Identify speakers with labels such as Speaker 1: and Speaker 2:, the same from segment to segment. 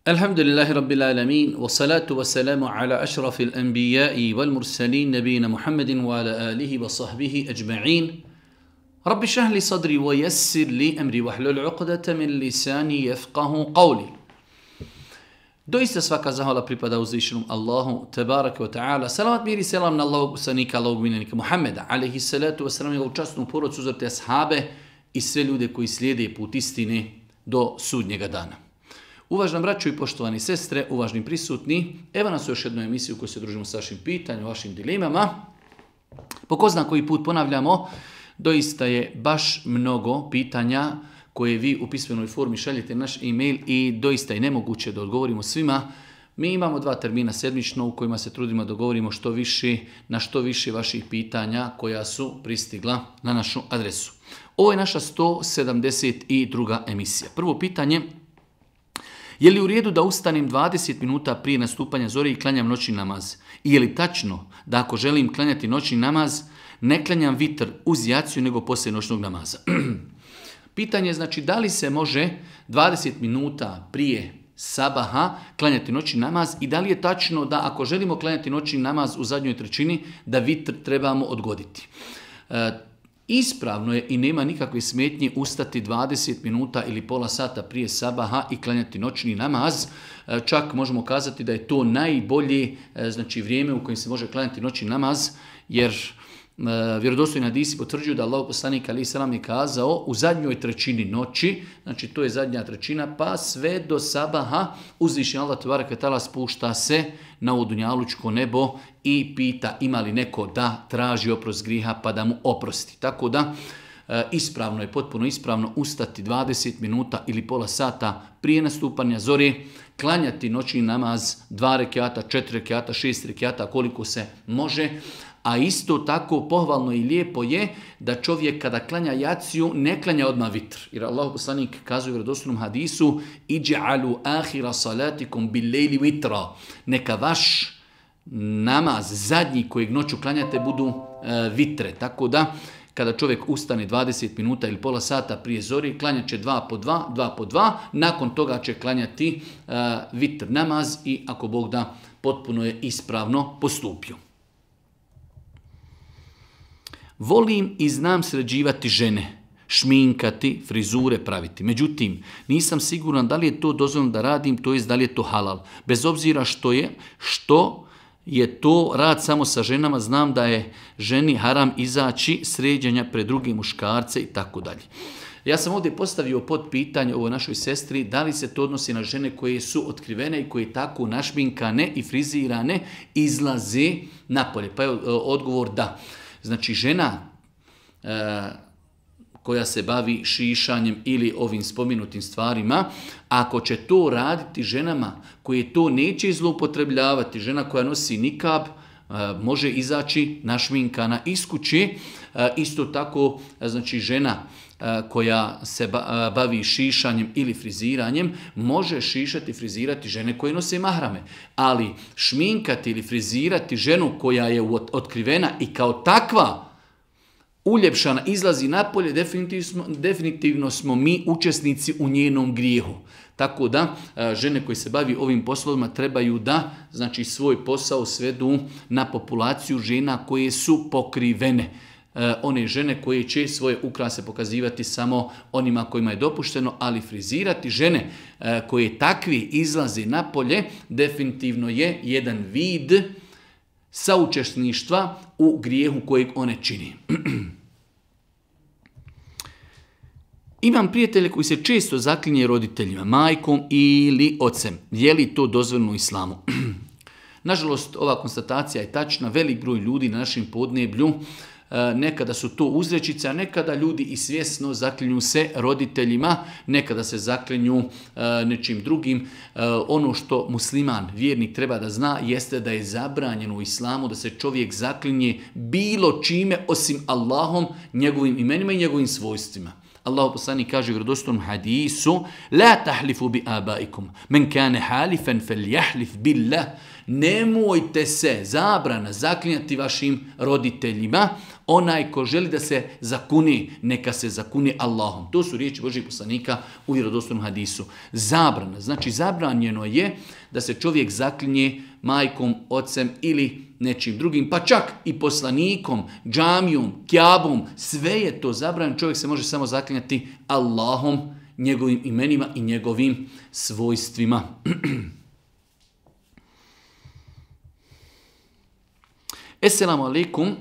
Speaker 1: Alhamdulillahi Rabbil Alamin, wa salatu wa salamu ala ašrafil anbijai wal mursalin, nabijina Muhammedin wa ala alihi wa sahbihi ajma'in. Rabbi šahli sadri wa yassir li amri wa hlul uqdata min lisani yafqahu qawli. Doista svaka zahvala pripada uzvišenom Allahu, tebaraka wa ta'ala. Salavat mir i selam na Allahog poslanika, Allahog miljenika Muhammeda, alaihi salatu wa salam, njegovu časnu porodcu, uzorte ashabe i sve ljude koji slijede put istine do sudnjega dana. Uvažna braćo i poštovani sestre, uvažni prisutni, evo nas u još jednu emisiju u kojoj se družimo sa vašim pitanjima, vašim dilemama. Po ko zna koji put ponavljamo, doista je baš mnogo pitanja koje vi u pismenoj formi šaljete naš e-mail i doista je nemoguće da odgovorimo svima. Mi imamo 2 termina sedmično u kojima se trudimo da govorimo na što više vaših pitanja koja su pristigla na našu adresu. Ovo je naša 172. emisija. Prvo pitanje: je li u redu da ustanem 20 minuta prije nastupanja zore i klanjam noćni namaz? I je li tačno da ako želim klanjati noćni namaz, ne klanjam vitr uz jaciju nego poslije noćnog namaza? Pitanje je znači da li se može 20 minuta prije sabaha klanjati noćni namaz i da li je tačno da ako želimo klanjati noćni namaz u zadnjoj trećini da vitr trebamo odgoditi. Ispravno je i nema nikakve smetnje ustati 20 minuta ili pola sata prije sabaha i klanjati noćni namaz. Čak možemo kazati da je to najbolje vrijeme u kojem se može klanjati noćni namaz, jer vjerodostojni hadisi potvrđuju da Allahov poslanik alejhi selam je kazao u zadnjoj trećini noći, znači to je zadnja trećina, pa sve do sabaha uzvišeni Allah tebareke ve taala spušta se na ovo dunjalučko nebo i pita ima li neko da traži oprost griha pa da mu oprosti. Tako da ispravno je, potpuno ispravno ustati 20 minuta ili pola sata prije nastupanja zore, klanjati noćni namaz 2 rekata, 4 rekata, 6 rekata koliko se može. A isto tako pohvalno i lijepo je da čovjek kada klanja jaciju ne klanja odmah vitr. Jer Allah poslanik kazuje u vjerodostojnom hadisu: "Iđ'alu ahira salatikum bil lejli vitra." Neka vaš namaz zadnji kojeg noću klanjate budu vitre. Tako da kada čovjek ustane 20 minuta ili pola sata prije zori, klanjat će 2 po 2, nakon toga će klanjati vitr namaz i ako Bog da potpuno je ispravno postupio. Volim i znam sređivati žene, šminkati, frizure praviti. Međutim, nisam siguran da li je to dozvoljeno da radim, to jest da li je to halal. Bez obzira što je to rad samo sa ženama, znam da je ženi haram izaći sređenja pred druge muškarce i tako dalje. Ja sam ovdje postavio pod pitanje ovoj našoj sestri da li se to odnosi na žene koje su otkrivene i koje tako našminkane i frizirane izlaze napolje. Pa je odgovor da. Znači žena koja se bavi šišanjem ili ovim spomenutim stvarima, ako će to raditi ženama koje to neće zloupotrebljavati, žena koja nosi nikab, može izaći našminkana iz kuće. Isto tako znači žena koja se bavi šišanjem ili friziranjem može šišati i frizirati žene koje nose mahrame. Ali šminkati ili frizirati ženu koja je otkrivena i kao takva uljepšana izlazi napolje, definitivno smo mi učesnici u njenom grijehu. Tako da žene koje se bavi ovim poslovima trebaju da znači svoj posao svedu na populaciju žena koje su pokrivene. One žene koje će svoje ukrase pokazivati samo onima kojima je dopušteno, ali frizirati žene koje takvi izlaze napolje definitivno je jedan vid saučesništva u grijehu kojeg one čini. Imam prijatelje koji se često zaklinje roditeljima, majkom ili ocem. Je li to dozvoljeno u islamu? Nažalost, ova konstatacija je tačna. Velik broj ljudi na našem podneblju, nekada su to uzrečice, a nekada ljudi i svjesno zaklinju se roditeljima, nekada se zaklinju nečim drugim. Ono što musliman, vjernik treba da zna jeste da je zabranjeno u islamu da se čovjek zaklinje bilo čime osim Allahom, njegovim imenima i njegovim svojstvima. Allahu poslanik kaže u vjerodostojnom hadisu: "La tahlifu bi abaikum, men kana halifan falyahlif billah." Nemojte se, zabrana, zaklinjati vašim roditeljima, onaj ko želi da se zakuni, neka se zakuni Allahom. To su riječi Božjih poslanika u vjerodostojnom hadisu. Zabrana, znači zabranjeno je da se čovjek zaklinje majkom, ocem ili nečim drugim, pa čak i poslanikom, džamijom, kjabom, sve je to zabranjeno. Čovjek se može samo zaklinjati Allahom, njegovim imenima i njegovim svojstvima. Esselamu alaikum,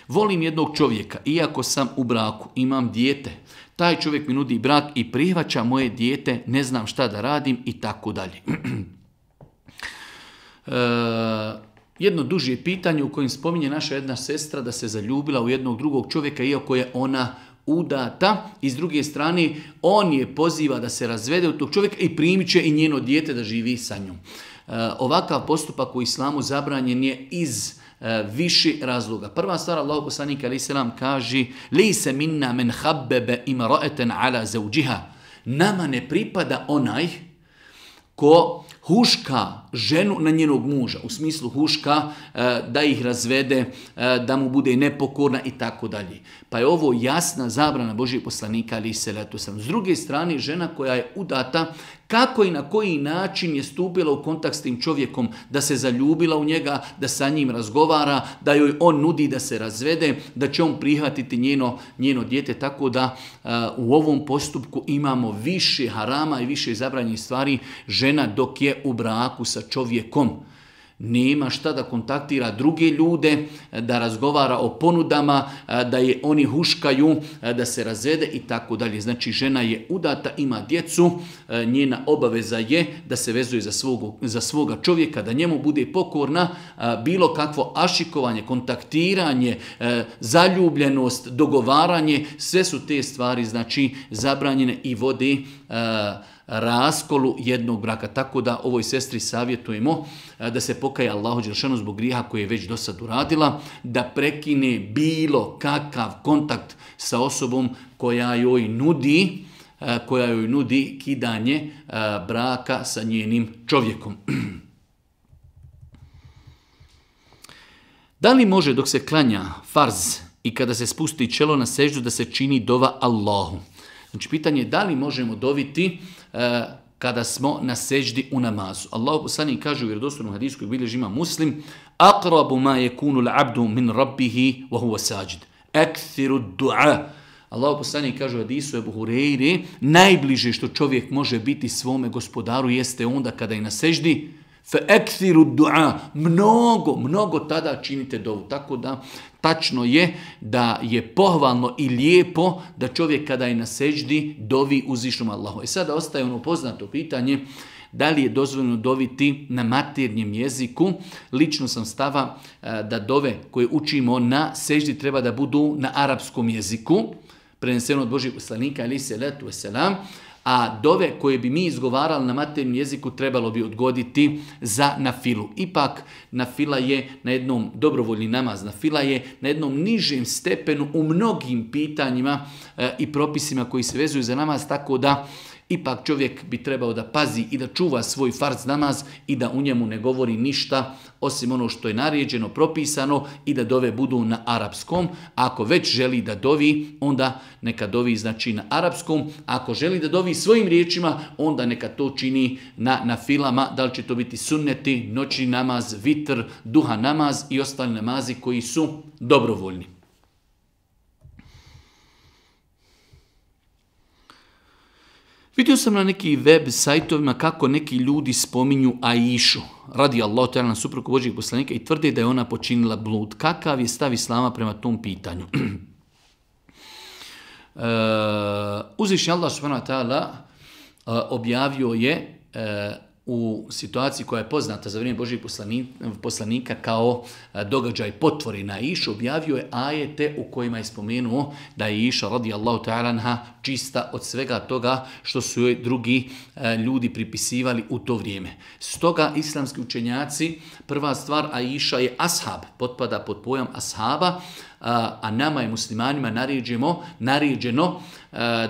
Speaker 1: volim jednog čovjeka, iako sam u braku, imam dijete. Taj čovjek mi nudi brak i prihvaća moje dijete, ne znam šta da radim i tako dalje. Jedno duže pitanje u kojem spominje naša jedna sestra da se zaljubila u jednog drugog čovjeka, iako je ona udata, i s druge strane on je poziva da se razvede od tog čovjeka i primit će i njeno dijete da živi sa njom. Ovakav postupak u islamu zabranjen je iz više razloga. Prva stvar, Allahu poslanik alejhi selam kaže: "Lejse minna men habbebe imra'atan ala zawjiha." Nama ne pripada onaj ko huška ženu na njenog muža, u smislu huška da ih razvede, da mu bude nepokorna i tako dalje. Pa je ovo jasna zabrana Božjeg poslanika alejhi selatu selam. S druge strane, žena koja je udata, kako i na koji način je stupila u kontakt s tim čovjekom, da se zaljubila u njega, da sa njim razgovara, da joj on nudi da se razvede, da će on prihvatiti njeno dijete, tako da u ovom postupku imamo više harama i više zabranjenih stvari. Žena dok je u braku sa čovjekom nema šta da kontaktira druge ljude, da razgovara o ponudama, da je oni huškaju, da se razvede i tako dalje. Znači žena je udata, ima djecu, njena obaveza je da se vezuje za svoga čovjeka, da njemu bude pokorna, bilo kakvo ašikovanje, kontaktiranje, zaljubljenost, dogovaranje, sve su te stvari znači zabranjene i vode raskolu jednog braka. Tako da ovoj sestri savjetujemo da se pokaje Allahu dželešanu zbog grijeha koji je već do sad uradila, da prekine bilo kakav kontakt sa osobom koja joj nudi kidanje braka sa njenim čovjekom. Da li može dok se klanja farz i kada se spusti čelo na seždu da se čini dova Allahu? Znači, pitanje je da li možemo doviti kada smo na seždi u namazu. Allahu poslanik kaže u vjerodostojnom hadisu koji bilježi Imam Muslim: "Aqrabu ma yakunu al-'abdu min rabbihi wa huwa sajid. Akthiru ad-du'a." Allahu poslanik kaže u hadisu Ebu Hureyre: najbliže što čovjek može biti svome gospodaru jeste onda kada je na seždi. Fa akthiru ad-du'a. Mnogo tada činite dovu. Tako da tačno je da je pohvalno i lijepo da čovjek kada je na seždi dovi uzvišnom Allahu. I sada ostaje ono poznato pitanje: da li je dozvoljeno doviti na maternjem jeziku? Lično sam stava da dove koje učimo na seždi treba da budu na arapskom jeziku, preneseno od Božjeg poslanika alejhi selatu vesselam, a dove koje bi mi izgovarali na maternjem jeziku trebalo bi odgoditi za nafilu. Ipak nafila je na jednom dobrovoljni namaz, nafila je na jednom nižem stepenu u mnogim pitanjima i propisima koji se vezuju za namaz, tako da ipak čovjek bi trebao da pazi i da čuva svoj farz namaz i da u njemu ne govori ništa osim ono što je naređeno, propisano, i da dove budu na arapskom. Ako već želi da dovi, onda neka dovi znači na arapskom. Ako želi da dovi svojim riječima, onda neka to čini na filama. Da li će to biti sunneti, noćni namaz, vitr, duha namaz i ostali namazi koji su dobrovoljni. Vidio sam na neki web sajtovima kako neki ljudi spominju Aišu, radijallahu ta'ala, na suprugu Božjeg poslanika, i tvrde da je ona počinila blud. Kakav je stav islama prema tom pitanju? Uzvišeni Allah subhanahu wa ta'ala objavio je u situaciji koja je poznata za vrijeme Božjeg poslanika kao događaj potvori na Aišu, objavio je ajete u kojima je spomenuo da je Aiša radijallahu ta'ala anha čista od svega toga što su joj drugi ljudi pripisivali u to vrijeme. Stoga islamski učenjaci, prva stvar, Aiša je ashab, potpada pod pojam ashaba, a nama je muslimanima naređeno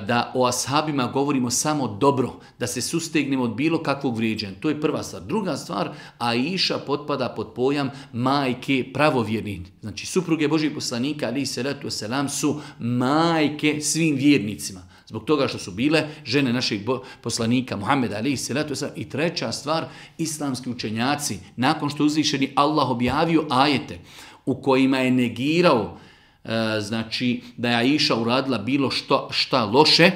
Speaker 1: da o ashabima govorimo samo dobro, da se sustegnemo od bilo kakvog vrijeđanja. To je prva stvar. Druga stvar, Aisha potpada pod pojam majke pravovjernih. Znači, supruge Božih poslanika, alejhi selatu vesselam, su majke svim vjernicima. Zbog toga što su bile žene našeg poslanika Muhameda, alejhi selatu vesselam. I treća stvar, islamski učenjaci, nakon što uzvišeni Allah objavio ajete u kojima je negirao znači da je Aisha uradila bilo šta loše,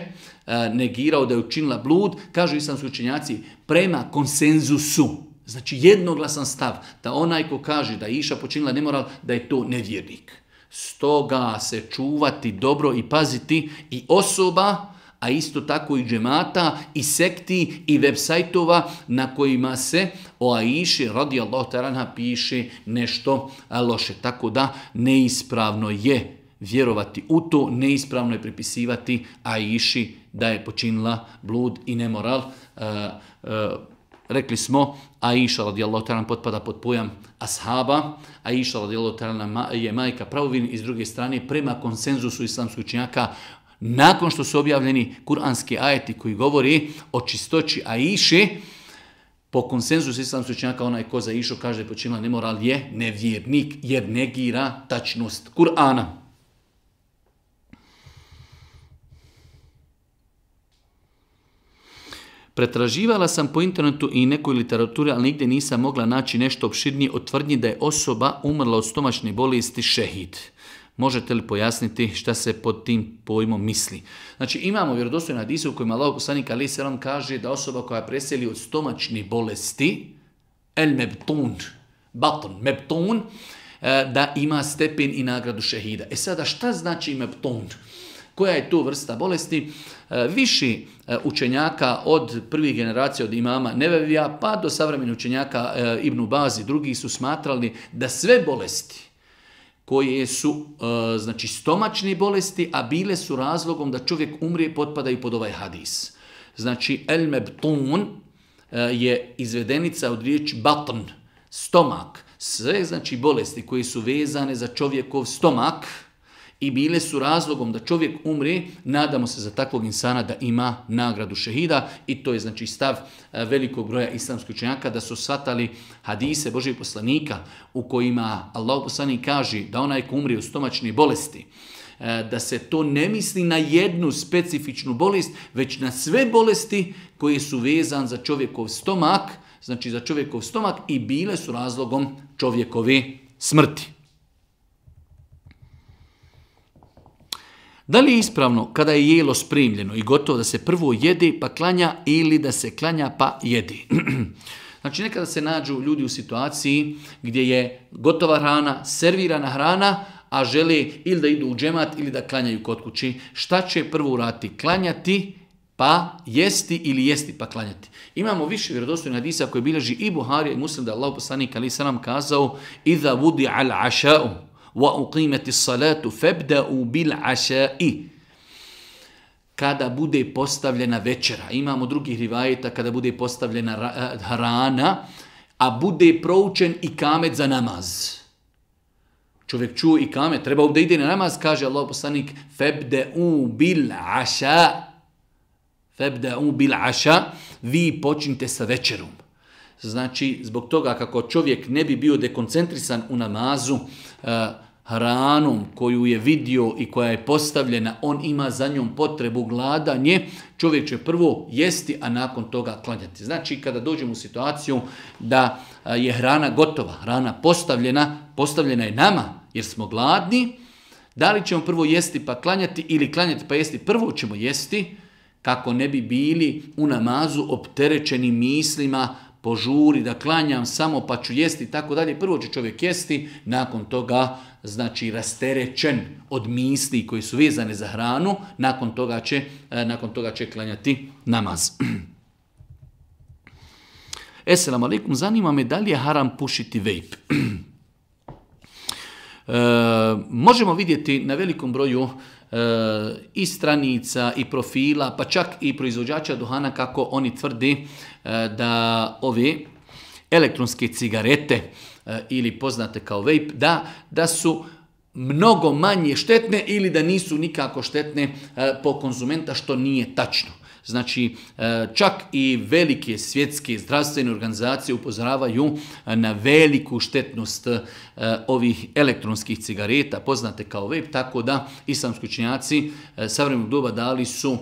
Speaker 1: negirao da je učinila blud, kažu islamski učenjaci, prema konsenzusu, znači jednoglasan stav, da onaj ko kaže da je Aisha počinila nemoral, da je to nevjernik. Stoga se čuvati dobro i paziti i osoba, a isto tako i džemata, i sekti, i web sajtova na kojima se o Aiši radijallahu ta'ala anha piše nešto loše. Tako da neispravno je vjerovati u to, neispravno je pripisivati Aiši da je počinila blud i nemoral. Rekli smo, Aisha radijallahu ta'ala potpada pod pojam ashaba, Aisha radijallahu ta'ala je majka pravovjernih, i s druge strane prema konsenzusu islamskih učenjaka, nakon što su objavljeni kuranski ajeti koji govori o čistoći Aiše, po konsenzusu islamskih učenjaka onaj ko za Aišu kaže da je počinila nemoral je nevjernik, jer negira tačnost Kur'ana. Pretraživala sam po internetu i nekoj literaturi, ali nigdje nisam mogla naći nešto opširnije od tvrdnji da je osoba umrla od stomačne bolesti šehid. Možete li pojasniti šta se pod tim pojmom misli? Znači, imamo vjerodostojne hadise u kojima Allahov poslanik alejhi selam kaže da osoba koja preseli od stomačne bolesti, mebtun, da ima stepen i nagradu šehida. Sada, šta znači mebtun? Koja je to vrsta bolesti? Viši učenjaka od prvih generacija, od imama Nevevija, pa do savremenih učenjaka Ibn Baz i drugi su smatrali da sve bolesti koje su znači stomačne bolesti, a bile su razlogom da čovjek umrije, potpadaju pod ovaj hadis. Znači, el-mebtun je izvedenica od riječi batn, stomak. Sve znači bolesti koje su vezane za čovjekov stomak i bile su razlogom da čovjek umre, nadamo se za takvog insana da ima nagradu šehida, i to je znači stav velikog broja islamskih učenjaka, da su shvatali hadise Božijeg poslanika u kojima Allahov poslanik kaže da onaj ko umre u stomačne bolesti, da se to ne misli na jednu specifičnu bolest, već na sve bolesti koje su vezane za čovjekov stomak, znači za čovjekov stomak, i bile su razlogom čovjekove smrti. Da li je ispravno kada je jelo spremljeno i gotovo da se prvo jede pa klanja, ili da se klanja pa jede? Znači, nekada se nađu ljudi u situaciji gdje je gotova hrana, servirana hrana, a žele ili da idu u džemat ili da klanjaju kod kući. Šta će prvo uraditi? Klanjati pa jesti ili jesti pa klanjati? Imamo više vjerodostojnih hadisa koji bilježi i Buharija i Muslim, da Allahov poslanik alejhi selam kazao: "Iza vudi al aša'u wa uqimati salatu fabda'u bil aša'i." Kada bude postavljena večera, imamo drugih rivajeta kada bude postavljena hrana, a bude proučen ikamet za namaz. Čovjek čuje ikamet, treba da ide na namaz, kaže Allahov poslanik: "Fabda'u bil aša." Fabda'u bil aša, vi počnite sa večerom. Znači, zbog toga kako čovjek ne bi bio dekoncentrisan u namazu, hranom koju je vidio i koja je postavljena, on ima za njom potrebu, gladanje, čovjek će prvo jesti, a nakon toga klanjati. Znači, kada dođemo u situaciju da je hrana gotova, hrana postavljena je nama jer smo gladni, da li ćemo prvo jesti pa klanjati ili klanjati pa jesti? Prvo ćemo jesti, kako ne bi bili u namazu opterećeni mislima, požuri da klanjam samo pa ću jesti i tako dalje. Prvo će čovjek jesti, nakon toga znači rasterećen od misli koji su vezane za hranu, nakon toga će klanjati namaz. Esselamu alaikum, zanima me da li je haram pušiti vejp. Možemo vidjeti na velikom broju i stranica i profila, pa čak i proizvođača duhana, kako oni tvrdi da ove elektronske cigarete ili poznate kao vape, da su mnogo manje štetne ili da nisu nikako štetne po konzumenta, što nije tačno. Znači, čak i velike svjetske zdravstvene organizacije upozoravaju na veliku štetnost ovih elektronskih cigareta, poznate kao vape, tako da islamski učenjaci savremenog doba dali su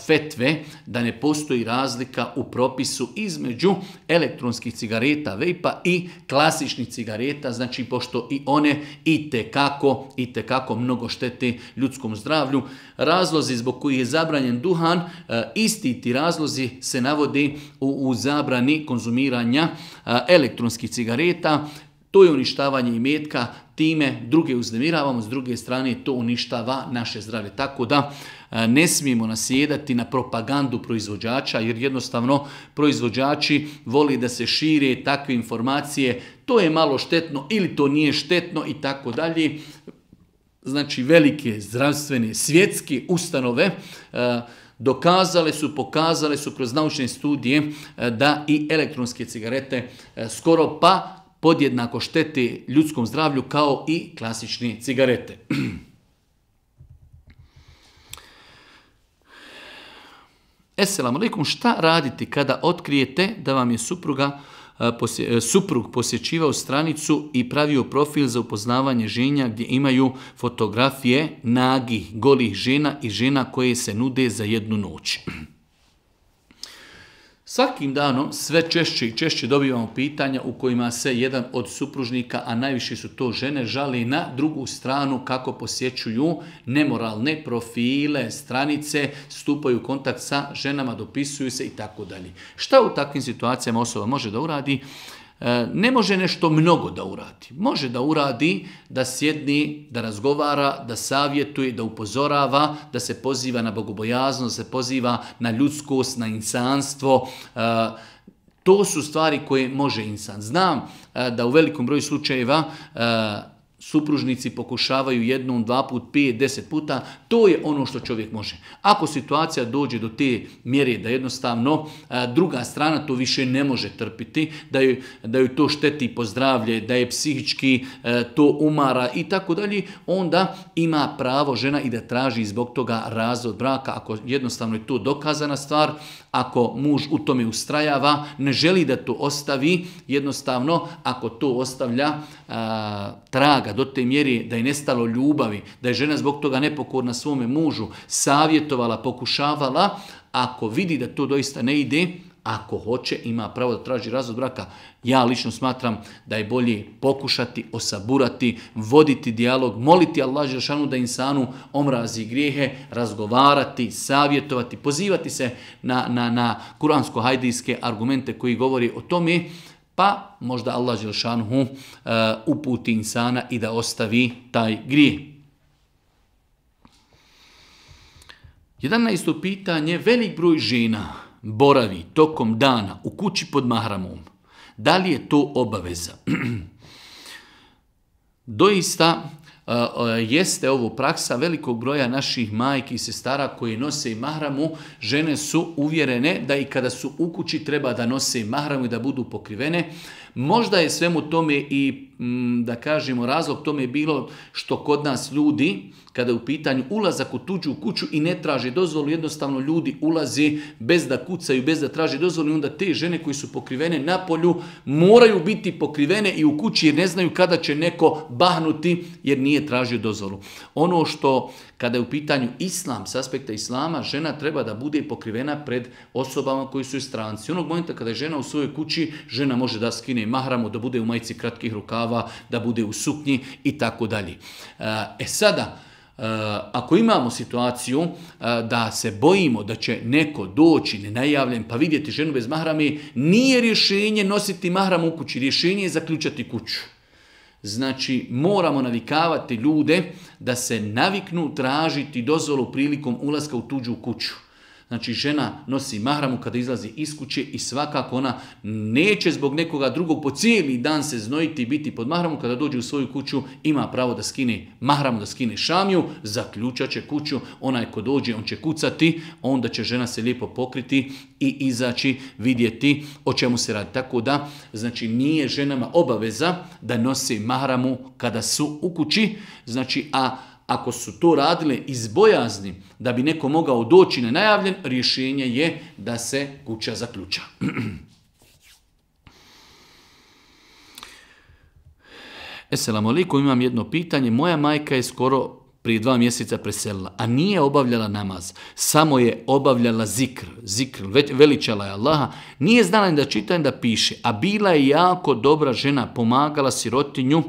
Speaker 1: fetve da ne postoji razlika u propisu između elektronskih cigareta, vape-a i klasičnih cigareta, znači pošto i one i tekako mnogo štete ljudskom zdravlju. Razlozi zbog kojih je zabranjen duhan, isti ti razlozi se navode u zabrani konzumiranja elektronskih cigareta. To je uništavanje imetka, time druge uznemiravamo, s druge strane to uništava naše zdravlje. Tako da ne smijemo nasjedati na propagandu proizvođača, jer jednostavno proizvođači voli da se šire takve informacije, to je malo štetno ili to nije štetno i tako dalje. Znači velike zdravstvene svjetske ustanove pokazale su kroz naučne studije da i elektronske cigarete skoro pa podjednako štete ljudskom zdravlju kao i klasične cigarete. Esselamu alaikum, šta raditi kada otkrijete da vam je suprug posjećivao stranicu i pravio profil za upoznavanje ženja gdje imaju fotografije nagih, golih žena i žena koje se nude za jednu noć? Svakim danom sve češće i češće dobivamo pitanja u kojima se jedan od supružnika, a najviše su to žene, žali na drugu stranu kako posjećuju nemoralne profile, stranice, stupaju u kontakt sa ženama, dopisuju se i tako dalje. Šta u takvim situacijama osoba može da uradi? Ne može nešto mnogo da uradi. Može da uradi, da sjedni, da razgovara, da savjetuje, da upozorava, da se poziva na bogobojaznost, da se poziva na ljudskost, na insanstvo. To su stvari koje može insan. Znam da u velikom broju slučajeva supružnici pokušavaju jednom, 2 puta, 5, 10 puta, to je ono što čovjek može. Ako situacija dođe do te mjere da jednostavno druga strana to više ne može trpiti, da joj to šteti po zdravlje, da je psihički to umara i tako dalje, onda ima pravo žena i da traži zbog toga razvod braka, ako jednostavno je to dokazana stvar, ako muž u tome ustrajava, ne želi da to ostavi, jednostavno ako to ostavlja traga do te mjere da je nestalo ljubavi, da je žena zbog toga nepokorna svome mužu, savjetovala, pokušavala, ako vidi da to doista ne ide, ako hoće, ima pravo da traži razvod braka. Ja lično smatram da je bolje pokušati, osaburati, voditi dijalog, moliti Allah dželešanu da insanu omrazi grijehe, razgovarati, savjetovati, pozivati se na kuransko-hajdijske argumente koji govori o tome, pa možda Allah dželešanu uputi insana i da ostavi taj grijeh. 11. pitanje, velik broj žena boravi tokom dana u kući pod mahramom. Da li je to obaveza? Doista jeste ovo praksa velikog broja naših majki i sestara koji nose mahramu. Žene su uvjerene da i kada su u kući treba da nose mahramu i da budu pokrivene. Možda je svemu tome i, da kažemo, razlog tome je bilo što kod nas ljudi, kada je u pitanju ulazak u tuđu kuću i ne traže dozvolu, jednostavno ljudi ulaze bez da kucaju, bez da traže dozvolu i onda te žene koji su pokrivene na polju moraju biti pokrivene i u kući jer ne znaju kada će neko bahnuti jer nije tražio dozvolu. Ono što, kada je u pitanju islam, s aspekta islama, žena treba da bude pokrivena pred osobama koji su stranci. Onog momenta kada je žena u svojoj kući, žena može da skine mahramu, da bude u majici kratkih rukava, da bude u suknji i tako dalje. Sada, ako imamo situaciju da se bojimo da će neko doći nenajavljen pa vidjeti ženu bez mahrame, nije rješenje nositi mahram u kući, rješenje je zaključati kuću. Znači, moramo navikavati ljude da se naviknu tražiti dozvolu prilikom ulaska u tuđu kuću. Znači žena nosi mahramu kada izlazi iz kuće i svakako ona neće zbog nekoga drugog po cijeli dan se znojiti i biti pod mahramom. Kada dođe u svoju kuću ima pravo da skine mahramu, da skine šamiju, zaključat će kuću. Onaj ko dođe on će kucati, onda će žena se lijepo pokriti i izaći vidjeti o čemu se radi. Tako da znači nije ženama obaveza da nose mahramu kada su u kući, znači ako su to radile iz bojazni da bi neko mogao doći nenajavljen, rješenje je da se kuća zaključa. Esselamu alaikum, imam jedno pitanje. Moja majka je skoro prije 2 mjeseca preselila, a nije obavljala namaz. Samo je obavljala zikr, veličala je Allaha. Nije znala ni da čita ni da piše, a bila je jako dobra žena, pomagala sirotinju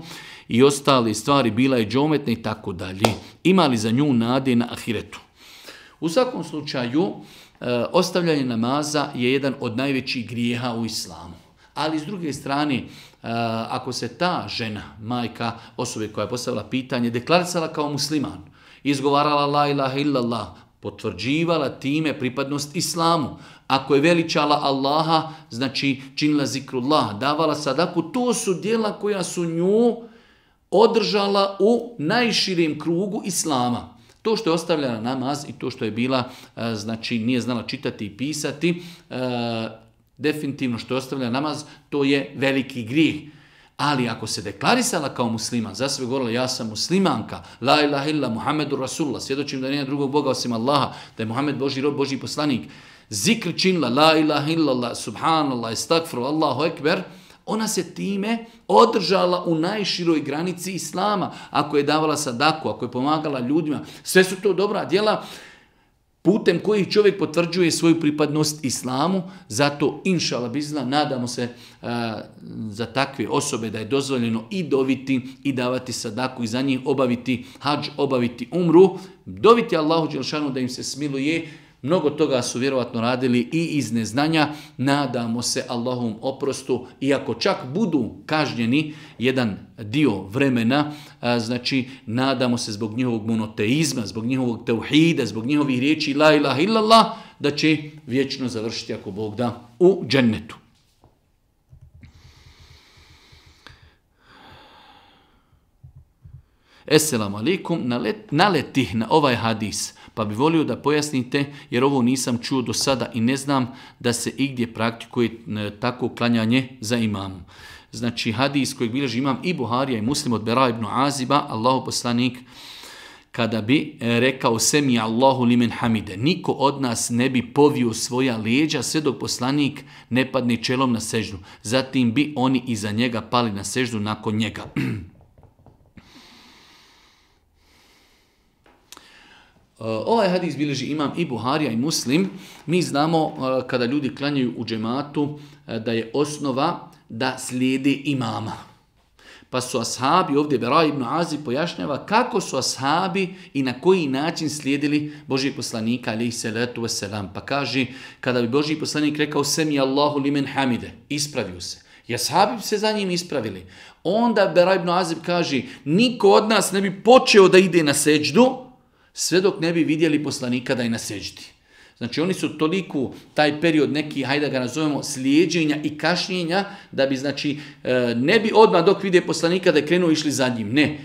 Speaker 1: i ostale stvari, bila je džometna i tako dalje. Ima li za nju nade na ahiretu? U svakom slučaju, ostavljanje namaza je jedan od najvećih grijeha u islamu. Ali s druge strane, ako se ta žena, majka osobe koja je postavila pitanje, deklarisala kao musliman, izgovarala la ilaha illallah, potvrđivala time pripadnost islamu, ako je veličala Allaha, znači činila zikrullah, davala sadaku, to su djela koja su nju održala u najširijem krugu islama. To što je ostavljala namaz i to što je bila, znači nije znala čitati i pisati, definitivno što je ostavljala namaz, to je veliki grijeh. Ali ako se deklarisala kao musliman, za sve govorila ja sam muslimanka, la ilaha illa Muhammedu Rasulullah, svjedočim da nema drugog Boga osim Allaha, da je Muhammed Božji rob, Božji poslanik, zikr činila, la ilaha illallah, subhanallah, estakfru, Allahu ekber, ona se time održala u najširoj granici islama. Ako je davala sadaku, ako je pomagala ljudima, sve su to dobra djela putem kojih čovjek potvrđuje svoju pripadnost islamu. Zato, inša Allah bizna, nadamo se za takve osobe da je dozvoljeno i doviti i davati sadaku i za njih obaviti hadž, obaviti umru, doviti Allahu dželešanu da im se smiluje. Mnogo toga su vjerovatno radili i iz neznanja. Nadamo se Allahovom oprostu, iako čak budu kažnjeni jedan dio vremena, znači nadamo se zbog njihovog monoteizma, zbog njihovog tauhida, zbog njihovih riječi la ilaha illallah, da će vječno završiti ako Bog da u džennetu. Esselamu alaikum, naletih na ovaj hadis, pa bi volio da pojasnite, jer ovo nisam čuo do sada i ne znam da se igdje praktikuje tako klanjanje za imamom. Znači hadis kojeg bilježi imam i Buharija i Muslim od Bera ibn Aziba, Allahu poslanik, kada bi rekao semi Allahu limen hamide, niko od nas ne bi povio svoja leđa sve dok poslanik ne padne čelom na seždu. Zatim bi oni iza njega pali na seždu nakon njega. Ovaj hadis bilježi imam i Buharija i Muslim. Mi znamo kada ljudi klanjaju u džematu da je osnova da slijede imama. Pa su ashabi, ovdje Bera ibn Azib pojašnjava kako su ashabi i na koji način slijedili Božijeg poslanika alejhi salatu vesselam. Pa kaže, kada bi Božji poslanik rekao semi Allahu limen hamide, ispravio se. I ashabi bi se za njim ispravili. Onda Bera ibn Azib kaže, niko od nas ne bi počeo da ide na seđdu sve dok ne bi vidjeli poslanika da je na seđdi. Znači oni su toliko taj period neki, hajde da ga nazovemo, slijeđenja i kašnjenja, da bi znači ne bi odmah dok vide poslanika da je krenuo išli za njim. Ne.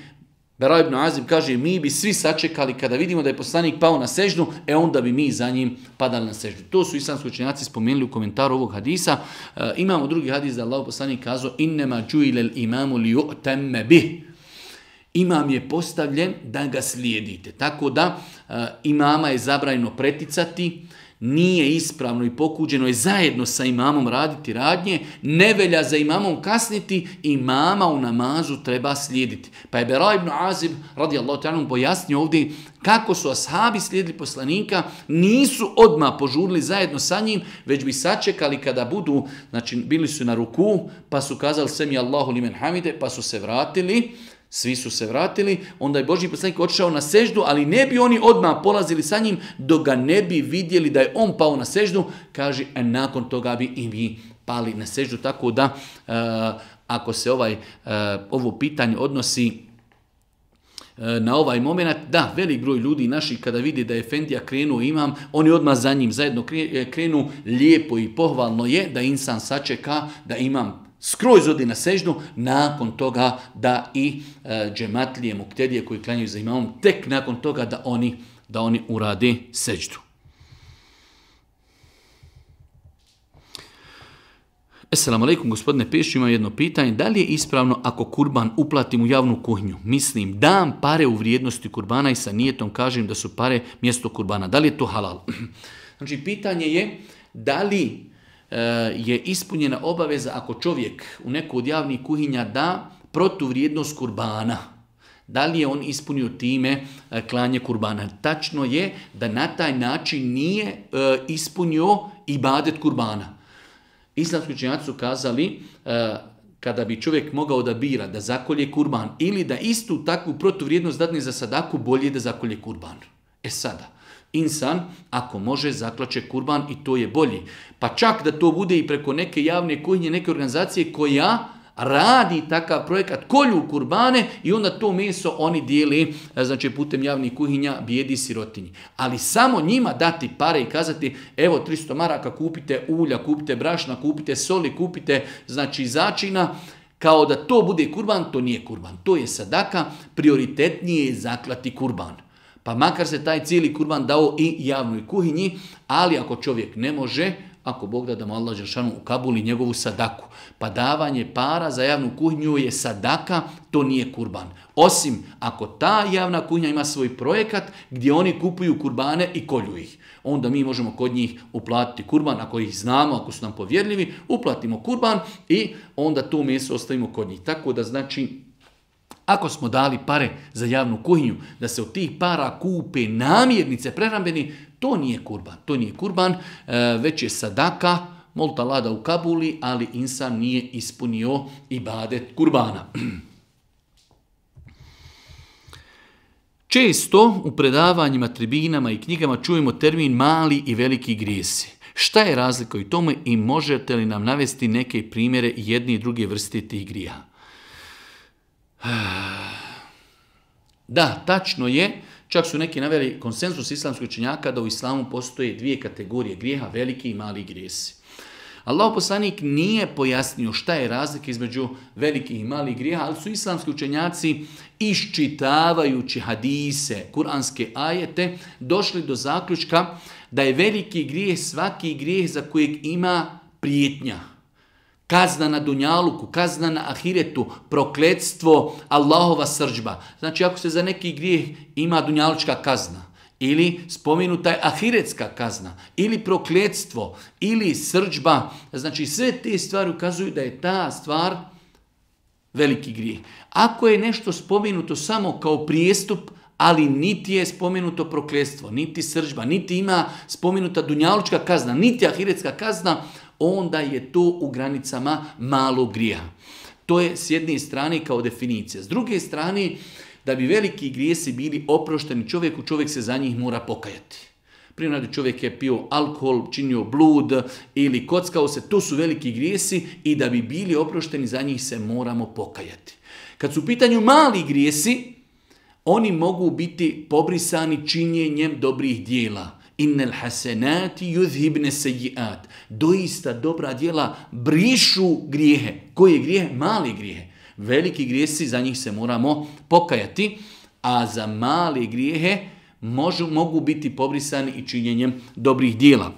Speaker 1: Bera ibn Azib kaže, mi bi svi sačekali kada vidimo da je poslanik pao na seždu, onda bi mi za njim padali na seždu. To su islamski učenjaci spomenuli u komentaru ovog hadisa. Imamo drugi hadis da Allah poslanik kazao, innema džuilel imamu li ju'temme bih. Imam je postavljen da ga slijedite. Tako da imama je zabranjeno preticati, nije ispravno i pokuđeno je zajedno sa imamom raditi radnje, ne velja za imamom kasniti, imama u namazu treba slijediti. Pa je Bera ibn Azib radijallahu ta'ala pojasnio ovdje kako su ashabi slijedili poslanika, nisu odmah požurili zajedno sa njim, već bi sačekali kada budu, znači bili su na ruku, pa su kazali semi Allahu limen hamide, pa su se vratili. Svi su se vratili, onda je Božji poslanik otišao na seždu, ali ne bi oni odmah polazili sa njim dok ga ne bi vidjeli da je on pao na seždu, kaže, a nakon toga bi i mi pali na seždu. Tako da, ako se ovo pitanje odnosi na ovaj moment, da, velik broj ljudi naših kada vidi da je efendija krenuo imam, oni odmah za njim zajedno krenu, lijepo i pohvalno je da insan sačeka, da imam skroz odi na seždu, nakon toga da i džematlije, muktedije koji klanjaju za imamom, tek nakon toga da oni urade seždu. Assalamu alaikum, gospodine Pešić, imam jedno pitanje. Da li je ispravno ako kurban uplatim u javnu kuhinju? Mislim, dam pare u vrijednosti kurbana i sa nijetom kažem da su pare mjesto kurbana. Da li je to halal? Znači, pitanje je da li je ispunjena obaveza ako čovjek u neku od javnih kuhinja da protuvrijednost kurbana. Da li je on ispunio time klanje kurbana? Tačno je da na taj način nije ispunio ibadet kurbana. Islamski učenjaci su kazali kada bi čovjek mogao da bira da zakolje kurban ili da istu takvu protuvrijednost dadne za sadaku, bolje da zakolje kurban. Sada, insan ako može zaklaće kurban i to je bolji. Pa čak da to bude i preko neke javne kuhinje, neke organizacije koja radi takav projekat, kolju kurbane i onda to meso oni dijeli, znači putem javnih kuhinja bijedi sirotinji. Ali samo njima dati pare i kazati evo 300 maraka kupite ulja, kupite brašna, kupite soli, kupite znači začina, kao da to bude kurban, to nije kurban. To je sadaka, prioritetnije je zaklati kurban. Pa makar se taj cijeli kurban dao i javnoj kuhinji, ali ako čovjek ne može, ako Bog da mu Allah dželešanu ukabuli njegovu sadaku. Pa davanje para za javnu kuhinju je sadaka, to nije kurban. Osim ako ta javna kuhinja ima svoj projekat gdje oni kupuju kurbane i kolju ih. Onda mi možemo kod njih uplatiti kurban, ako ih znamo, ako su nam povjerljivi, uplatimo kurban i onda to meso ostavimo kod njih. Tako da znači, ako smo dali pare za javnu kuhinju, da se od tih para kupe namirnice prehrambeni, to nije kurban. To nije kurban, već je sadaka, molta Allah da ukabuli, ali insan nije ispunio ibadet kurbana. Često u predavanjima, tribinama i knjigama čujemo termin mali i veliki grijesi. Šta je razlika u tome i možete li nam navesti neke primjere jedne i druge vrste tih grijeha? Da, tačno je, čak su neki naveli konsenzus islamskih učenjaka da u islamu postoje dvije kategorije grijeha, veliki i mali grijesi. Allahov poslanik nije pojasnio šta je razlika između velikih i malih grijeha, ali su islamski učenjaci iščitavajući hadise, kuranske ajete, došli do zaključka da je veliki grijeh svaki grijeh za kojeg ima prijetnja. Kazna na dunjaluku, kazna na ahiretu, prokletstvo, Allahova srdžba. Znači ako se za neki grijeh ima dunjalučka kazna, ili spomenuta je ahiretska kazna, ili prokletstvo, ili srdžba, znači sve te stvari ukazuju da je ta stvar veliki grijeh. Ako je nešto spomenuto samo kao prijestup, ali niti je spomenuto prokletstvo, niti srdžba, niti ima spomenuta dunjalučka kazna, niti ahiretska kazna, onda je to u granicama malog grijeha. To je s jedne strane kao definicija. S druge strane, da bi veliki grijesi bili oprošteni čovjeku, čovjek se za njih mora pokajati. Primjer, čovjek je pio alkohol, činio blud ili kockao se, to su veliki grijesi i da bi bili oprošteni za njih se moramo pokajati. Kad su u pitanju mali grijesi, oni mogu biti pobrisani činjenjem dobrih dijela. Innel hasenati yuzhibne sejiat. Doista dobra djela brišu grijehe. Koje grijehe? Mali grijehe. Veliki grijesi, za njih se moramo pokajati, a za male grijehe mogu biti pobrisani i činjenjem dobrih djela.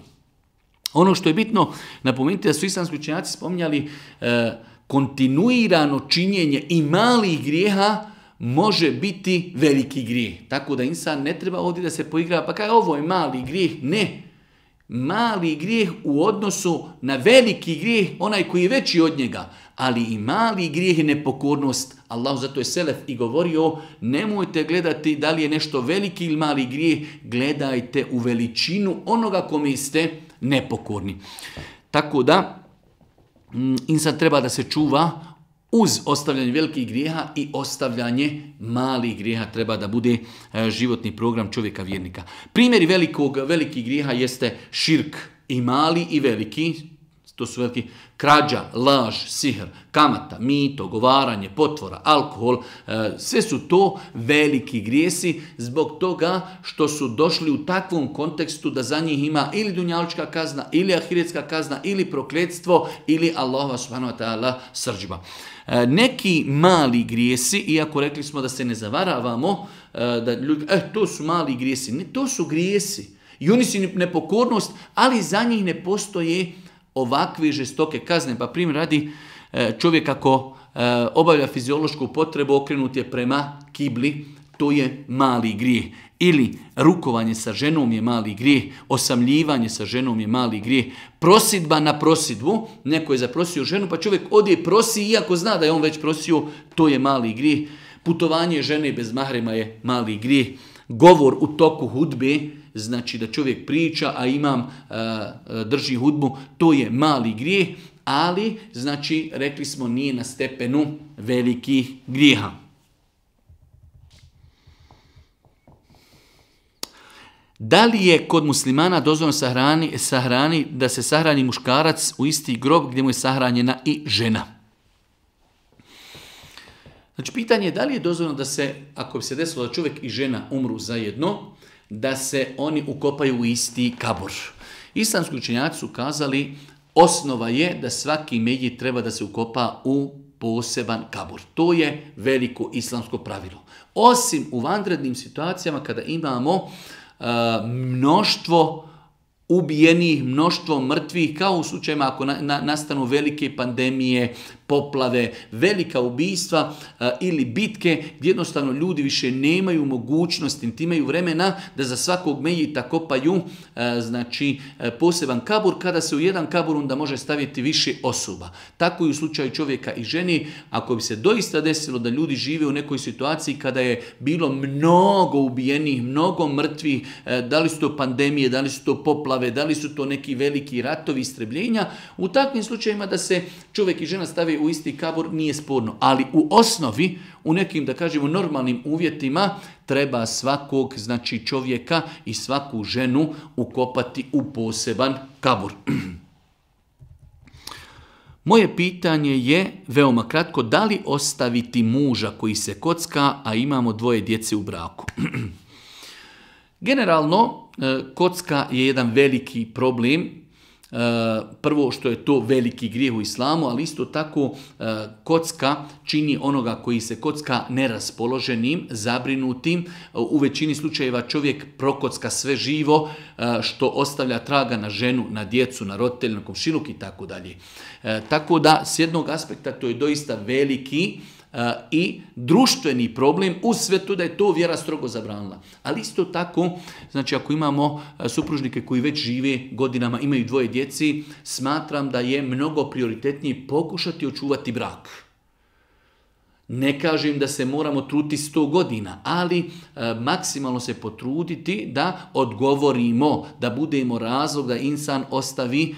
Speaker 1: Ono što je bitno napomenuti da su islamski učenjaci spominjali kontinuirano činjenje i malih grijeha može biti veliki grijeh. Tako da insan ne treba ovdje da se poigrava, pa kaj ovo je mali grijeh. Ne. Mali grijeh u odnosu na veliki grijeh, onaj koji je veći od njega. Ali i mali grijeh je nepokornost. Allah zato je selef i govorio, nemojte gledati da li je nešto veliki ili mali grijeh, gledajte u veličinu onoga kome ste nepokorni. Tako da insan treba da se čuva uz ostavljanje velikih grijeha i ostavljanje malih grijeha treba da bude životni program čovjeka vjernika. Primjeri velikih grijeha jeste širk i mali i veliki. To su veliki krađa, laž, sihr, kamata, mito, govaranje, potvora, alkohol. Sve su to veliki grijesi zbog toga što su došli u takvom kontekstu da za njih ima ili dunjalučka kazna, ili ahiretska kazna, ili prokletstvo, ili Allahova subhanahu wa ta'ala srdžba. Neki mali grijesi, iako rekli smo da se ne zavaravamo, da ljudi, to su mali grijesi. Ne, to su grijesi. I oni su nepokornost, ali za njih ne postoje ovakve žestoke kazne. Pa primjer radi, čovjek ako obavlja fiziološku potrebu, okrenut je prema kibli, to je mali grijeh. Ili rukovanje sa ženom je mali grijeh, osamljivanje sa ženom je mali grijeh, prosidba na prosidbu, neko je zaprosio ženu pa čovjek odje prosi iako zna da je on već prosio, to je mali grijeh. Putovanje žene bez mahrema je mali grijeh. Govor u toku hudbe, znači da čovjek priča, a imam drži hudbu, to je mali grijeh, ali znači rekli smo nije na stepenu velikih grijeha. Da li je kod muslimana dozvoljeno sahrani da se sahrani muškarac u isti grob gdje mu je sahranjena i žena? Znači pitanje je da li je dozvoljeno da se, ako bi se desilo da čovjek i žena umru zajedno, da se oni ukopaju u isti kabor. Islamski učenjaci su kazali osnova je da svaki mejit treba da se ukopa u poseban kabor. To je veliko islamsko pravilo. Osim u vanrednim situacijama kada imamo mnoštvo ubijenih, mnoštvo mrtvih, kao u slučajima ako nastanu velike pandemije, poplave, velika ubijstva ili bitke, gdje jednostavno ljudi više nemaju mogućnosti, niti imaju vremena da za svakog mejita kopaju znači poseban kabur, kada se u jedan kabur onda može staviti više osoba. Tako i u slučaju čovjeka i ženi, ako bi se doista desilo da ljudi žive u nekoj situaciji kada je bilo mnogo ubijenih, mnogo mrtvih, da li su to pandemije, da li su to poplave, da li su to neki veliki ratovi, istrebljenja, u takvim slučajima da se čovjek i žena stave u isti kabor nije sporno. Ali u osnovi, u nekim, da kažemo, normalnim uvjetima, treba svakog, znači čovjeka i svaku ženu ukopati u poseban kabor. Moje pitanje je veoma kratko, da li ostaviti muža koji se kocka, a imamo 2 djece u braku? Generalno, kocka je jedan veliki problem. Prvo što je to veliki grijeh u islamu, ali isto tako kocka čini onoga koji se kocka neraspoloženim, zabrinutim. U većini slučajeva čovjek prokocka sve živo što ostavlja traga na ženu, na djecu, na roditelje, na komšiluk i tako dalje. Tako da s jednog aspekta to je doista veliki i društveni problem uz sve to da je to vjera strogo zabranila. Ali isto tako, znači ako imamo supružnike koji već žive godinama, imaju 2 djeci, smatram da je mnogo prioritetnije pokušati očuvati brak. Ne kažem da se moramo truditi 100 godina, ali maksimalno se potruditi da odgovorimo, da budemo razlog da insan ostavi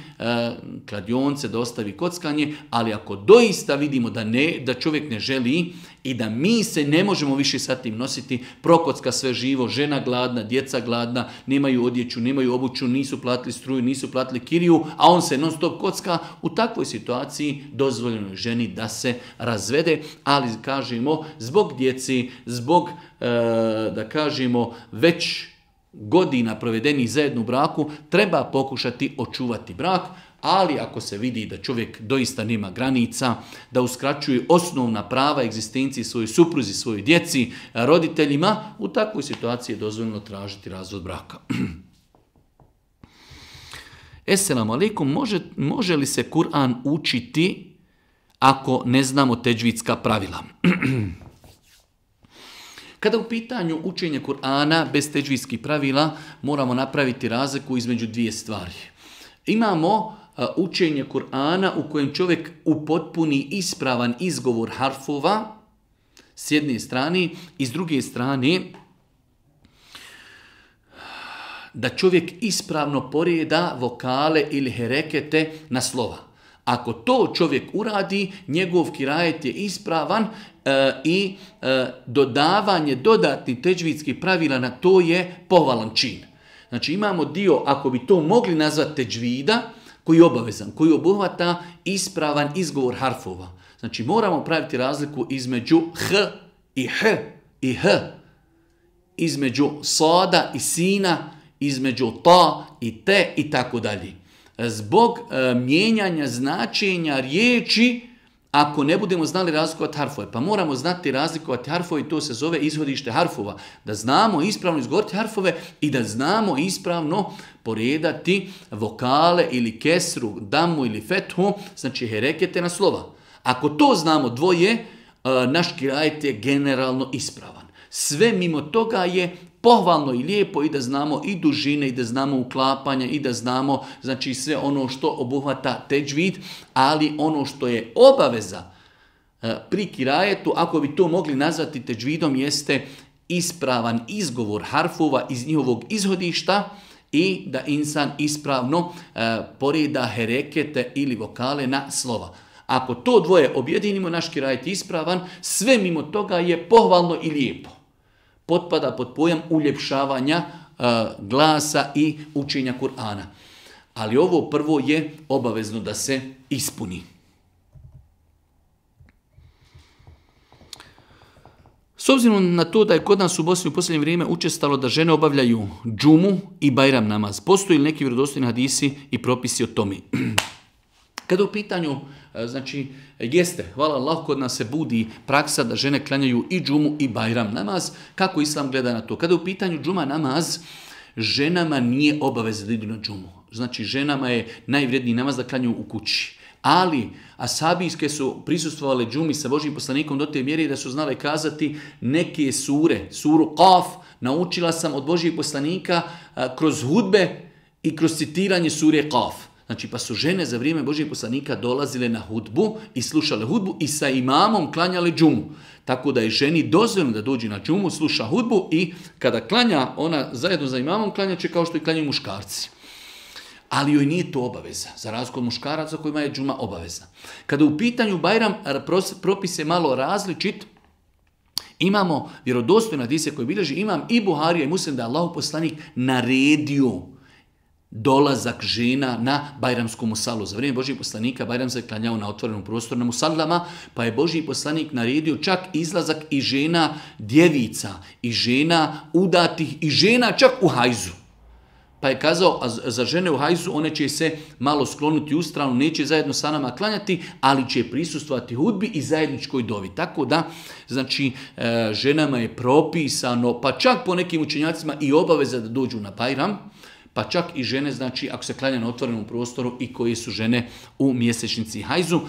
Speaker 1: kladionce, da ostavi kockanje, ali ako doista vidimo da čovjek ne želi i da mi se ne možemo više sa tim nositi, prokocka sve živo, žena gladna, djeca gladna, nemaju odjeću, nemaju obuću, nisu platili struju, nisu platili kiriju, a on se non stop kocka, u takvoj situaciji dozvoljeno je ženi da se razvede, ali kažemo zbog djeci, zbog da kažemo već godina provedenih zajedno u braku, treba pokušati očuvati brak, ali ako se vidi da čovjek doista nema granica, da uskraćuje osnovna prava egzistencije svojoj supruzi, svojoj djeci, roditeljima, u takvoj situaciji je dozvoljeno tražiti razvod braka. Esselamu alaikum, može li se Kur'an učiti ako ne znamo teđvidska pravila? Kada u pitanju učenja Kur'ana bez teđvidskih pravila moramo napraviti razliku između 2 stvari. Imamo učenje Kur'ana u kojem čovjek upotpuni ispravan izgovor harfova s jedne strane i s druge strane da čovjek ispravno porijeda vokale ili herekete na slova. Ako to čovjek uradi, njegov kirajet je ispravan i dodavanje dodatnih teđvidskih pravila na to je pohvalan čin. Znači imamo dio, ako bi to mogli nazvati teđvida, koji je obavezan, koji obuhvata ispravan izgovor harfova. Znači moramo praviti razliku između h i h i h, između sada i sina, između ta i te i tako dalje. Zbog mijenjanja značenja riječi, ako ne budemo znali razlikovati harfove, pa moramo znati razlikovati harfove i to se zove izhodište harfova. Da znamo ispravno izgovoriti harfove i da znamo ispravno poredati vokale ili kesru, damu ili fethu, znači herekete na slova. Ako to znamo dvoje, naš kirajet je generalno ispravan. Sve mimo toga je pohvalno i lijepo i da znamo i dužine i da znamo uklapanja i da znamo znači sve ono što obuhvata teđvid, ali ono što je obaveza pri kirajetu, ako bi to mogli nazvati teđvidom, jeste ispravan izgovor harfova iz njihovog izhodišta i da insan ispravno poreda herekete ili vokale na slova. Ako to dvoje objedinimo, naš kirajet je ispravan, sve mimo toga je pohvalno i lijepo. Potpada pod pojam uljepšavanja glasa i učenja Kur'ana. Ali ovo prvo je obavezno da se ispuni. S obzirom na to da je kod nas u Bosni u posljednje vrijeme učestalo da žene obavljaju džumu i bajram namaz, postoji li neki vjerodostojni hadisi i propisi o tome? Kada u pitanju, znači, jeste, hvala Allah, kod nas se budi praksa da žene klanjaju i džumu i bajram namaz. Kako Islam gleda na to? Kada u pitanju džuma namaz, ženama nije obaveza da idu na džumu. Znači, ženama je najvredniji namaz da klanjaju u kući. Ali ashabijske su prisustvovale džumi sa Božjim poslanikom do te mjere da su znale kazati neke sure, suru Qaf, naučila sam od Božjih poslanika kroz hudbe i kroz citiranje sure Qaf. Znači, pa su žene za vrijeme Božjih poslanika dolazile na hudbu i slušale hudbu i sa imamom klanjale džumu. Tako da je ženi dozvoljeno da dođe na džumu, sluša hudbu i kada klanja, ona zajedno za imamom klanjaće kao što i klanjaju muškarci. Ali joj nije to obaveza, za razliku od muškaraca kojima je džuma obavezna. Kada u pitanju bajram propis je malo različit, imamo vjerodostojne hadise koje bilježi imam i Buharija i Muslim da je Allahov poslanik naredio dolazak žena na bajramsku musalu. Za vrijeme Božjih poslanika bajram se klanjao na otvorenom prostoru na musallama, pa je Božji poslanik naredio čak izlazak i žena djevica, i žena udatih, i žena čak u hajzu. Pa je kazao, za žene u hajzu one će se malo sklonuti u stranu, neće zajedno sa nama klanjati, ali će prisustvovati hudbi i zajedničkoj dovi. Tako da, znači, ženama je propisano, pa čak po nekim učenjacima i obaveza da dođu na bajram, pa čak i žene, znači, ako se klanja na otvorenom prostoru i koje su žene u mjesečnici hajzu.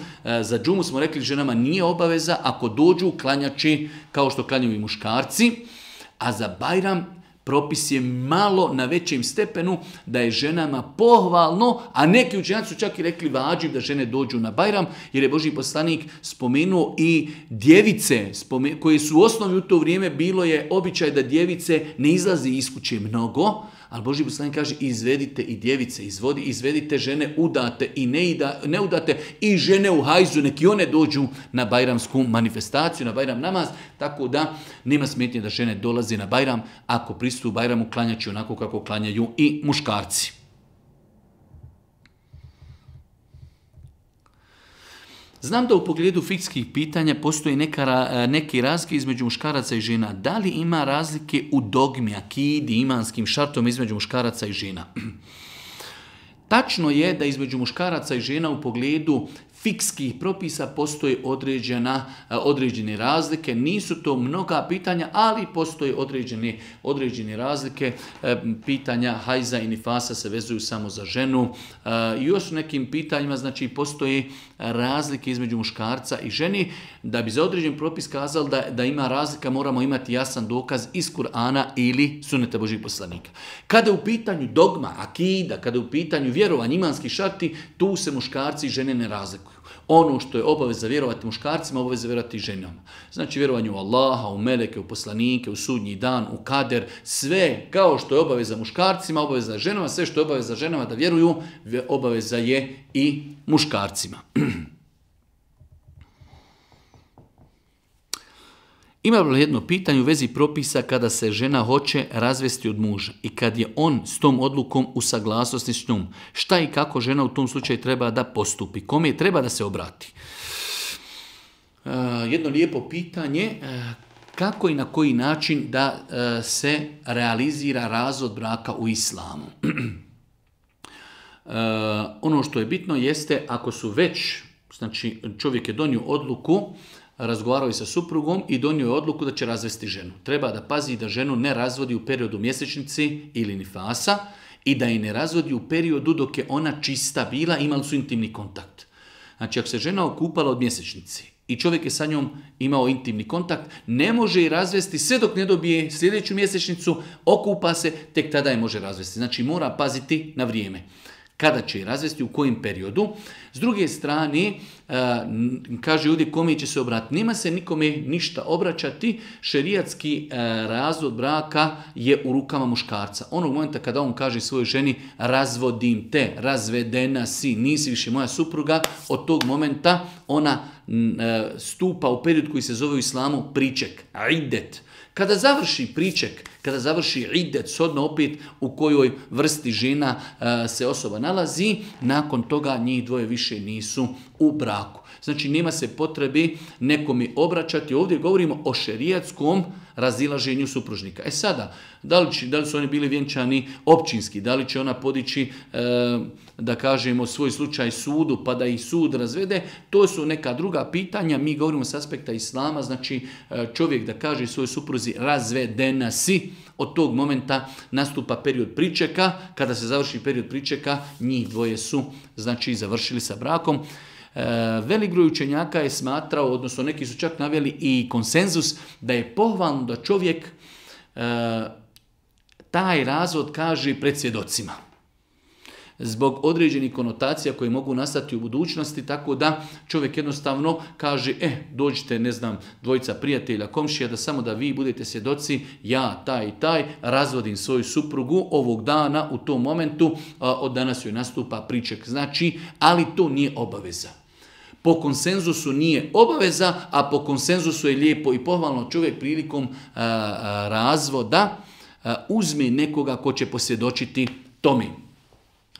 Speaker 1: Za džumu smo rekli, ženama nije obaveza, ako dođu klanjači kao što klanjaju i muškarci, a za bajram propis je malo na većem stepenu da je ženama pohvalno, a neki učenjaci su čak i rekli vađiv da žene dođu na bajram, jer je Božji poslanik spomenuo i djevice koje su u osnovi u to vrijeme bilo je običaj da djevice ne izlazi iz kuće mnogo, ali Božji poslanik kaže izvedite i djevice, izvedite žene udate i ne udate i žene u hajzu, neki one dođu na bajramsku manifestaciju, na bajram namaz, tako da nema smetnje da žene dolaze na bajram, ako pristupu bajramu klanjaći onako kako klanjaju i muškarci. Znam da u pogledu fikskih pitanja postoji neki razlike između muškaraca i žena. Da li ima razlike u dogmi, akidi, imanskim šartom između muškaraca i žena? Tačno je da između muškaraca i žena u pogledu fikskih propisa postoje određene razlike. Nisu to mnoga pitanja, ali postoje određene razlike. Pitanja hajza i nifasa se vezuju samo za ženu. I još u nekim pitanjima, znači, postoje razlike između muškarca i ženi. Da bi za određen propis kazali da ima razlika, moramo imati jasan dokaz iz Kur'ana ili sunneta Božjih poslanika. Kada je u pitanju dogma, akida, kada je u pitanju vjerovanja, imanski šarti, tu se muškarci i žene ne razlikuju. Ono što je obaveza vjerovati muškarcima, obaveza vjerovati i ženama. Znači vjerovanje u Allaha, u meleke, u poslanike, u sudnji dan, u kader, sve kao što je obaveza muškarcima, obaveza ženama, sve što je obaveza ženama da vjeruju, obaveza je i muškarcima. Imam jedno pitanje u vezi propisa kada se žena hoće razvesti od muža i kad je on s tom odlukom u saglasnosti s njom. Šta i kako žena u tom slučaju treba da postupi? Kome treba da se obrati? Jedno lijepo pitanje. Kako i na koji način da se realizira razvod braka u islamu? Ono što je bitno jeste ako su već, znači čovjek je donio odluku, razgovarao je sa suprugom i donio je odluku da će razvesti ženu. Treba da pazi da ženu ne razvodi u periodu mjesečnici ili nifasa i da je ne razvodi u periodu dok je ona čista bila, imali su intimni kontakt. Znači ako se žena okupala od mjesečnici i čovjek je sa njom imao intimni kontakt, ne može je razvesti sve dok ne dobije sljedeću mjesečnicu, okupa se, tek tada je može razvesti. Znači mora paziti na vrijeme. Kada će je razvesti, u kojem periodu. S druge strane, kaže ovdje kome će se obratiti. Nema se nikome ništa obraćati. Šerijatski razvod braka je u rukama muškarca. Onog momenta kada on kaže svojoj ženi razvodim te, razvedena si, nisi više moja supruga, od tog momenta ona stupa u period koji se zove u islamu priček, idet. Kada završi priček, kada završi idet, shodno opet u kojoj vrsti žena se osoba nalazi, nakon toga njih dvoje više nisu u braku. Znači nema se potrebe nekome obraćati. Ovdje govorimo o šerijatskom razilaženju supružnika. Sada, da li su oni bili vjenčani općinski, da li će ona podići, da kažemo, svoj slučaj sudu pa da ih sud razvede, to su neka druga pitanja. Mi govorimo s aspekta islama, znači čovjek da kaže svojoj supruzi razvedena si, od tog momenta nastupa period pričeka. Kada se završi period pričeka, njih dvoje su znači završili sa brakom. Velik broj učenjaka je smatrao, odnosno neki su čak naveli i konsenzus, da je pohvalno da čovjek taj razvod kaže pred svjedocima. Zbog određenih konotacija koje mogu nastati u budućnosti, tako da čovjek jednostavno kaže, dođite, ne znam, dvojica prijatelja, komšija, da samo da vi budete svjedoci, ja, taj i taj, razvodim svoju suprugu ovog dana, u tom momentu, od danas joj nastupa priček. Znači, ali to nije obaveza. Po konsenzusu nije obaveza, a po konsenzusu je lijepo i pohvalno čovjek prilikom razvoda uzme nekoga ko će posvjedočiti tome.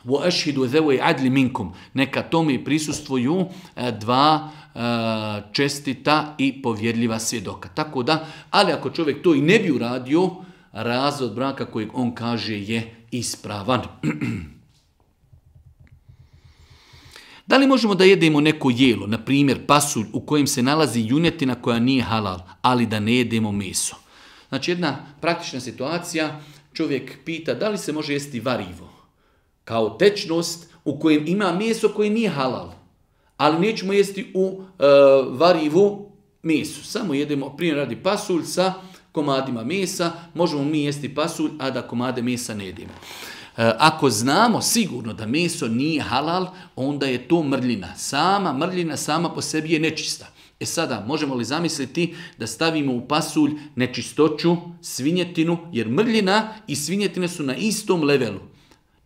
Speaker 1: وَأَشْهِدُ ذَوَيْ عَدْلِ مِنْكُمْ. Neka tome prisustvuju dva čestita i povjerljiva svjedoka. Tako da, ali ako čovjek to i ne bi uradio, razvod braka kojeg on kaže je ispravan. Da li možemo da jedemo neko jelo, na primjer pasulj u kojem se nalazi junjetina koja nije halal, ali da ne jedemo meso? Znači jedna praktična situacija, čovjek pita da li se može jesti varivo kao tečnost u kojem ima meso koje nije halal, ali nećemo jesti u varivu meso. Samo jedemo, primjer radi, pasulj sa komadima mesa, možemo mi jesti pasulj, a da komade mesa ne jedemo. Ako znamo sigurno da meso nije halal, onda je to mrljina. Sama mrljina sama po sebi je nečista. Sada, možemo li zamisliti da stavimo u pasulj nečistoću, svinjetinu, jer mrljina i svinjetina su na istom levelu,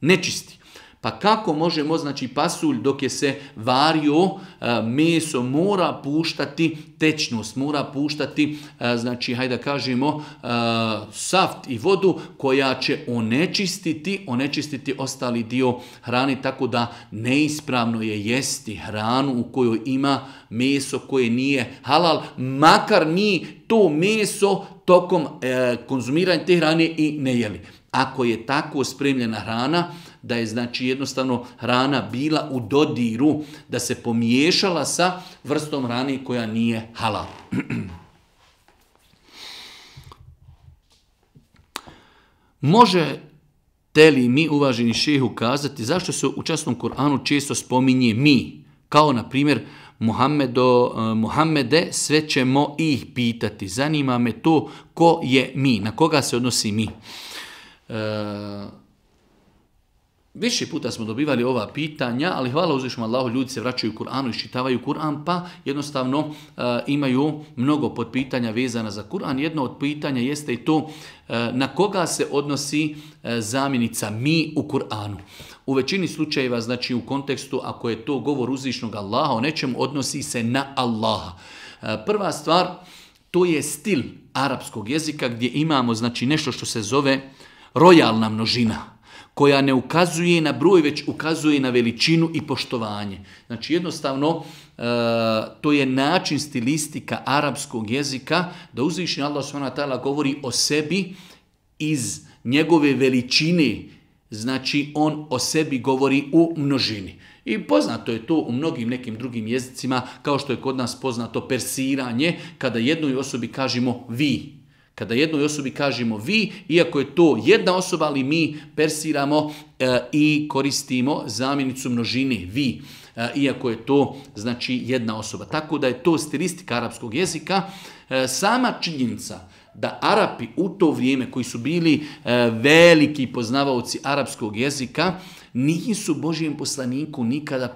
Speaker 1: nečisti. Pa kako možemo, znači pasulj dok je se vario, meso mora puštati tečnost, mora puštati, znači hajde da kažemo, saft i vodu koja će onečistiti ostali dio hrane, tako da neispravno je jesti hranu u kojoj ima meso koje nije halal, makar mi to meso tokom konzumiranja te hrane i ne jeli. Ako je tako spremljena hrana, da je znači jednostavno hrana bila u dodiru, da se pomiješala sa vrstom hrane koja nije halal. Možete li mi, uvaženi šejhu, kazati zašto se u časnom Kur'anu često spominje mi? Kao na primjer Muhammede, sve ćemo ih pitati. Zanima me to ko je mi, na koga se odnosi mi. Više puta smo dobivali ova pitanja, ali hvala uzvišnom Allahu, ljudi se vraćaju u Kur'anu, iščitavaju Kur'an, pa jednostavno imaju mnogo podpitanja vezana za Kur'an. Jedno od pitanja jeste i to na koga se odnosi zamjenica mi u Kur'anu. U većini slučajeva, znači u kontekstu, ako je to govor uzvišnog Allaha o nečemu, odnosi se na Allaha. Prva stvar, to je stil arapskog jezika gdje imamo znači nešto što se zove rojalna množina, koja ne ukazuje na broj, već ukazuje na veličinu i poštovanje. Znači jednostavno to je način stilistika arapskog jezika da uzvišeni Allah subhanahu wa ta'ala govori o sebi iz njegove veličine. Znači on o sebi govori u množini. I poznato je to u mnogim nekim drugim jezicima, kao što je kod nas poznato persiranje, kada jednoj osobi kažemo vi. Kada jednoj osobi kažemo vi, iako je to jedna osoba, ali mi persiramo i koristimo zamjenicu množine vi, iako je to znači jedna osoba. Tako da je to stilistika arapskog jezika. Sama činjenica da Arapi u to vrijeme koji su bili veliki poznavaoci arapskog jezika nisu Božijem poslaniku nikada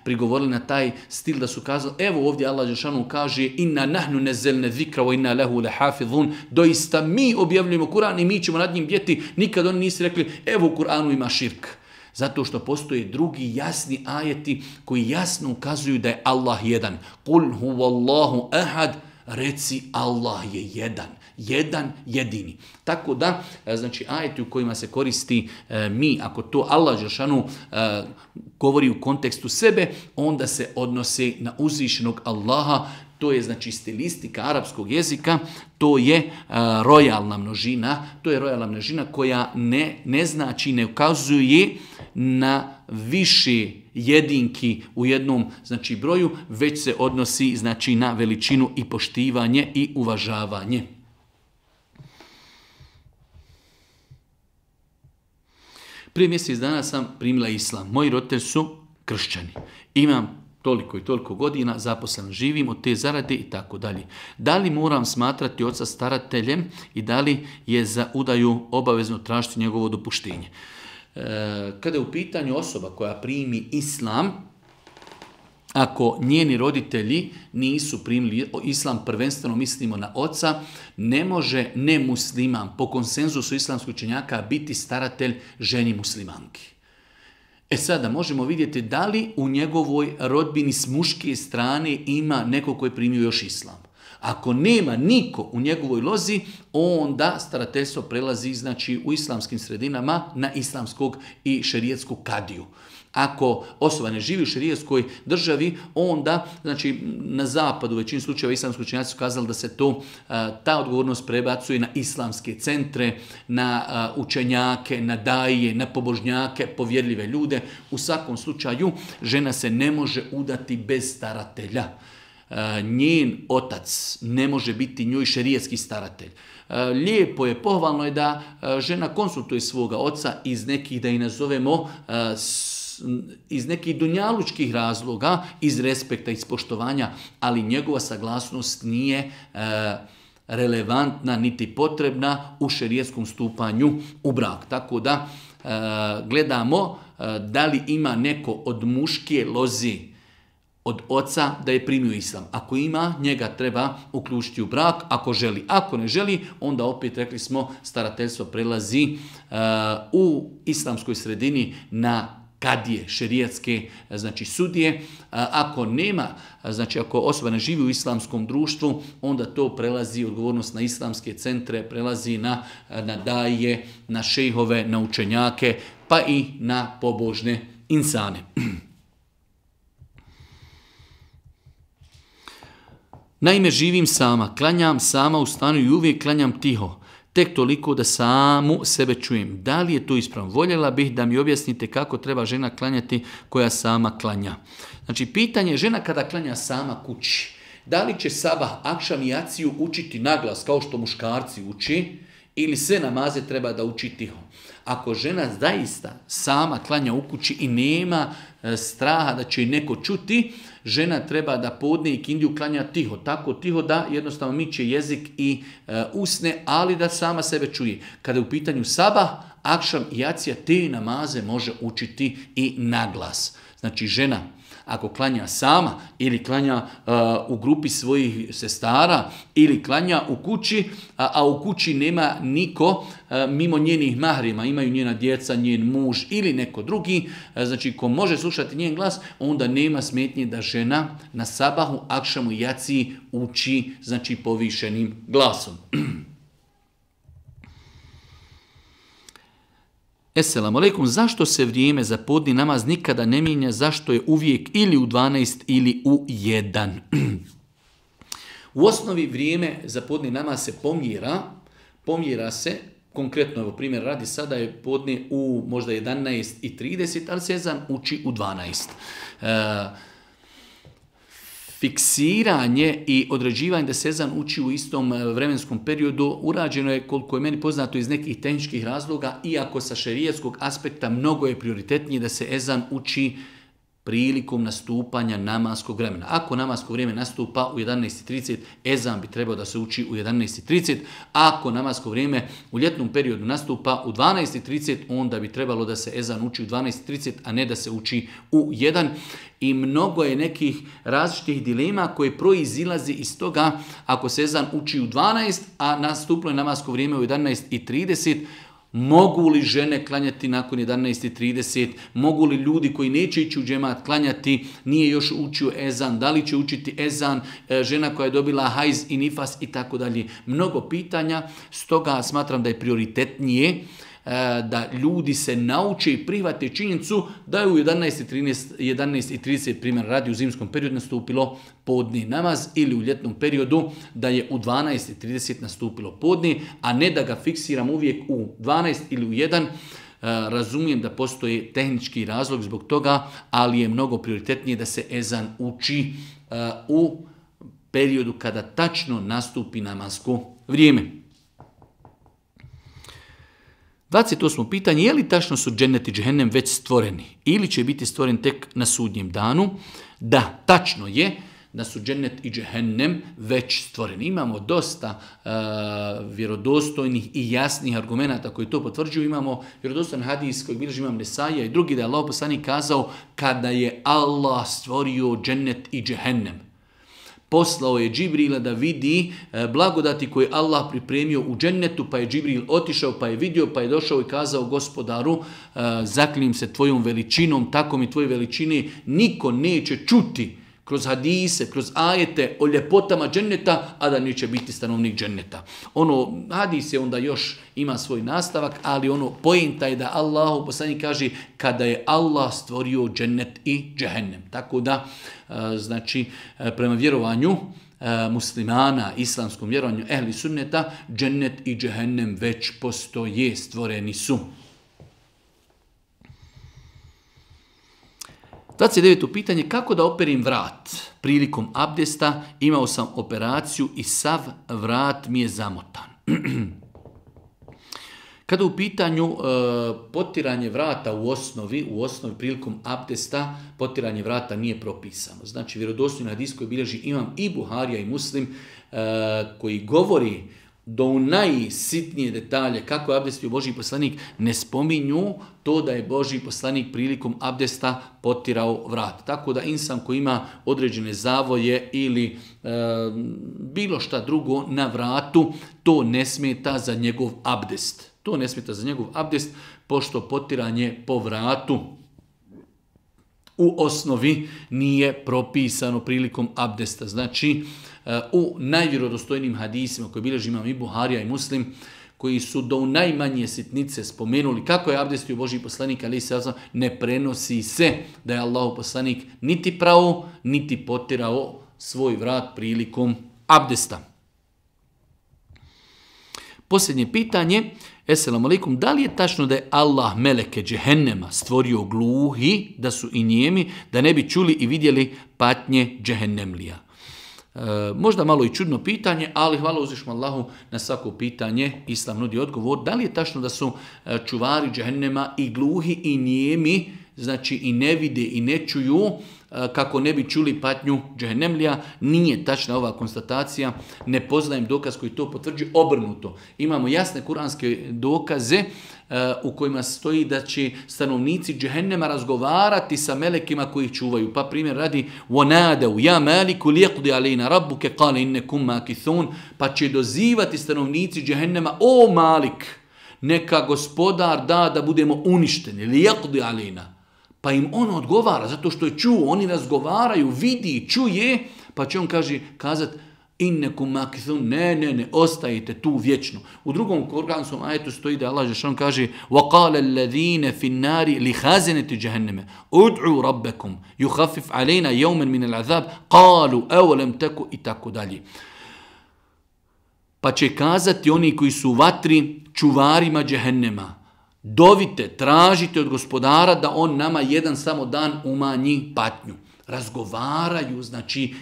Speaker 1: prigovorili na taj stil da su kazali, evo ovdje Allah dželešanu kaže inna nahnu nazzalna zikra wa inna lahu lahafizun, doista mi objavljujemo Kur'an i mi ćemo nad njim bdjeti. Nikad oni nisu rekli evo u Kur'anu ima širk. Zato što postoje drugi jasni ajeti koji jasno ukazuju da je Allah jedan. Kul huvallahu ahad, reci Allah je jedan jedini. Tako da, znači ajeti u kojima se koristi mi, ako to Allah dželešanu govori u kontekstu sebe, onda se odnose na uzvišenog Allaha. To je znači stilistika arapskog jezika, to je rojalna množina, koja ne znači, ne ukazuje na više jedinki u jednom znači broju, već se odnosi znači na veličinu i poštivanje i uvažavanje. Prije mjesec dana sam primila islam. Moji roditelji su kršćani. Imam toliko i toliko godina, zaposlen živim od te zarade i tako dalje. Da li moram smatrati oca starateljem i da li je za udaju obavezno tražiti njegovo dopuštenje? Kada je u pitanju osoba koja primi islam, ako njeni roditelji nisu primili islam, prvenstveno mislimo na oca, ne može nemusliman po konsenzusu islamskih učenjaka biti staratelj ženi muslimanki. Sada možemo vidjeti da li u njegovoj rodbini s muške strane ima neko koji je primio još islam. Ako nema niko u njegovoj lozi, onda starateljstvo prelazi znači u islamskim sredinama na islamskog i šerijatskog kadiju. Ako osoba ne živi u šerijatskoj državi, onda znači na zapadu u većini slučajeva islamski učenjaci su kazali da se ta odgovornost prebacuje na islamske centre, na učenjake, na daije, na pobožnjake, povjerljive ljude. U svakom slučaju žena se ne može udati bez staratelja. Njen otac ne može biti njoj šerijatski staratelj. Lijepo je, pohvalno je da žena konsultuje svoga oca iz nekih, da ih nazovemo, iz nekih dunjalučkih razloga, iz respekta, iz poštovanja, ali njegova saglasnost nije relevantna niti potrebna u šerijatskom stupanju u brak. Tako da gledamo da li ima neko od muške lozi od oca da je primio islam. Ako ima, njega treba uključiti u brak, ako želi. Ako ne želi, onda opet, rekli smo, starateljstvo prelazi u islamskoj sredini na kadije, šerijatske, znači sudije. Ako nema, znači ako osoba ne živi u islamskom društvu, onda to prelazi odgovornost na islamske centre, prelazi na daje, na šejhove, na učenjake, pa i na pobožne insane. Naime, živim sama, klanjam sama u stanu i uvijek klanjam tiho. Tek toliko da samu sebe čujem. Da li je to ispravno? Voljela bih da mi objasnite kako treba žena klanjati koja sama klanja. Znači, pitanje je žena kada klanja sama kući. Da li će sabah, akšam i jaciju učiti naglas kao što muškarci uči ili sve namaze treba da uči tiho? Ako žena zaista sama klanja u kući i nema straha da će neko čuti, žena treba da podne i kindiju klanja tiho. Tako tiho da jednostavno miče jezik i usne, ali da sama sebe čuje. Kada je u pitanju sabah, akšam i jacija, te namaze može učiti i naglas. Znači žena, ako klanja sama ili klanja u grupi svojih sestara ili klanja u kući, a u kući nema niko mimo njenih mahrima, imaju njena djeca, njen muž ili neko drugi, znači ko može slušati njen glas, onda nema smetnje da žena na sabahu, akšamu i jaciji uči, znači povišenim glasom. Esselamu alaikum, zašto se vrijeme za podni namaz nikada ne mijenja, zašto je uvijek ili u 12 ili u 1? U osnovi vrijeme za podni namaz se pomjera se, konkretno evo primjer radi, sada je podne u možda 11:30, ali se ezan uči u 12. Fiksiranje i određivanje da se ezan uči u istom vremenskom periodu urađeno je, koliko je meni poznato, iz nekih tehničkih razloga, iako sa šerijatskog aspekta mnogo je prioritetnije da se ezan uči prilikom nastupanja namaskog vremena. Ako namasko vrijeme nastupa u 11:30, ezan bi trebao da se uči u 11:30. Ako namasko vrijeme u ljetnom periodu nastupa u 12:30, onda bi trebalo da se ezan uči u 12:30, a ne da se uči u 1. I mnogo je nekih različitih dilema koje proizilazi iz toga, ako se ezan uči u 12, a nastupilo je namasko vrijeme u 11:30, mogu li žene klanjati nakon 11:30, mogu li ljudi koji neće ići u džemat klanjati, nije još učio ezan, da li će učiti ezan, žena koja je dobila hajz i nifas i tako dalje. Mnogo pitanja, stoga smatram da je prioritetnije da ljudi se nauče i prihvate činjenicu da je u 11:30 primjer radi u zimskom periodu nastupilo podni namaz ili u ljetnom periodu da je u 12:30 nastupilo podni, a ne da ga fiksiram uvijek u 12 ili u 1. Razumijem da postoji tehnički razlog zbog toga, ali je mnogo prioritetnije da se ezan uči u periodu kada tačno nastupi namasko vrijeme. 28. pitanje, je li tačno su džennet i džehennem već stvoreni ili će biti stvoren tek na sudnjem danu? Da, tačno je da su džennet i džehennem već stvoreni. Imamo dosta vjerodostojnih i jasnih argumenata koji to potvrđuju. Imamo vjerodostojan hadis koji bilježi imam Nesaija i drugi, da je Allah poslanik kazao kada je Allah stvorio džennet i džehennem, poslao je Džibrila da vidi blagodati koje Allah pripremio u džennetu, pa je Džibril otišao, pa je vidio, pa je došao i kazao Gospodaru, zaklinjem se tvojom veličinom, tako mi tvoje veličine niko neće čuti kroz hadise, kroz ajete o ljepotama dženneta, a da neće biti stanovnik dženneta. Hadis je onda još ima svoj nastavak, ali poenta je da Allahu poslanik kaže kada je Allah stvorio džennet i džehennem. Tako da, znači, prema vjerovanju muslimana, islamskom vjerovanju ehli sunneta, džennet i džehennem već postoje, stvoreni su. 29. pitanje, kako da operim vrat? Prilikom abdesta imao sam operaciju i sav vrat mi je zamotan. Kada u pitanju potiranje vrata u osnovi prilikom abdesta, potiranje vrata nije propisano. Znači, vjerodostojni hadis koji bilježi imam i Buharija i Muslim, koji govori do najsitnije detalje kako je abdestio Božji poslanik, ne spominju to da je Božji poslanik prilikom abdesta potirao vrat. Tako da insan koji ima određene zavoje ili bilo šta drugo na vratu, to ne smeta za njegov abdest. To ne smeta za njegov abdest, pošto potiranje po vratu u osnovi nije propisano prilikom abdesta. Znači, u najvjerodostojnijim hadisima koje bilježi imam i Buharija i Muslim, koji su do najmanje sitnice spomenuli kako je abdestio Božji poslanik, ali se ne prenosi se da je Allahov poslanik niti prao, niti potirao svoj vrat prilikom abdesta. Posljednje pitanje, Esselamu alaikum, da li je tačno da je Allah meleke džehennema stvorio gluhi, da su i nijemi, da ne bi čuli i vidjeli patnje džehennemlija? Možda malo i čudno pitanje, ali hvala uzvišnom Allahu na svako pitanje. Islam nudi odgovor. Da li je tačno da su čuvari džehennema i gluhi i nijemi, znači i ne vide i ne čuju, kako ne bi čuli patnju džehennemlija. Nije tačna ova konstatacija, ne poznajem dokaz koji to potvrđuje, obrnuto. Imamo jasne kuranske dokaze u kojima stoji da će stanovnici džehennema razgovarati sa melekima koji ih čuvaju. Pa primjer radi وَنَادَوْ يَا مَالِكُ لِيَقْضِ عَلَيْنَا رَبُّكَ قَالَ إِنَّكُمْ مَاكِثُونَ, pa će dozivati stanovnici džehennema: o Malik, neka gospodar da budemo uništeni, لِيَقْضِ عَلَيْنَا. Pa im on odgovara, zato što je čuo, oni razgovaraju, vidi, čuje, pa će on kazati: innekum makithun, ne, ostajete tu vječno. U drugom kuranskom ajetu stoji da Allah dželle kaže: وَقَالَ الَّذِينَ فِي النَّارِ لِخَازِنَةِ جَهَنَّمَ اُدْعُوا رَبَّكُمْ يُخَفِّفْ عَلَيْنَا يَوْمًا مِنَ الْعَذَابِ قَالُوا أَوَلَمْ تَكُ i tako dalje. Pa će kazati oni koji su u vatri čuvarima džehennema: dovite, tražite od gospodara da on nama jedan samo dan umanji patnju. Razgovaraju, znači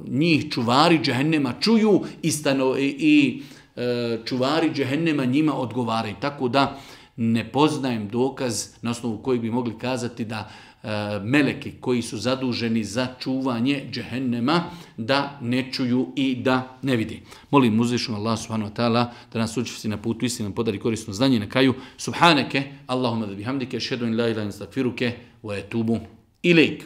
Speaker 1: njih čuvari džehennema čuju i čuvari džehennema njima odgovaraju. Tako da ne poznajem dokaz na osnovu kojeg bi mogli kazati da meleki koji su zaduženi za čuvanje džehennema da ne čuju i da ne vidi. Molim uzvišenog Allah subhanahu wa ta'ala da nas učvrsti na putu istine, nam podari korisno znanje. Na kraju: subhaneke Allahumma da bihamdike, šhedu in la ilaha illa anta, astaghfiruke wa etubu ilejk.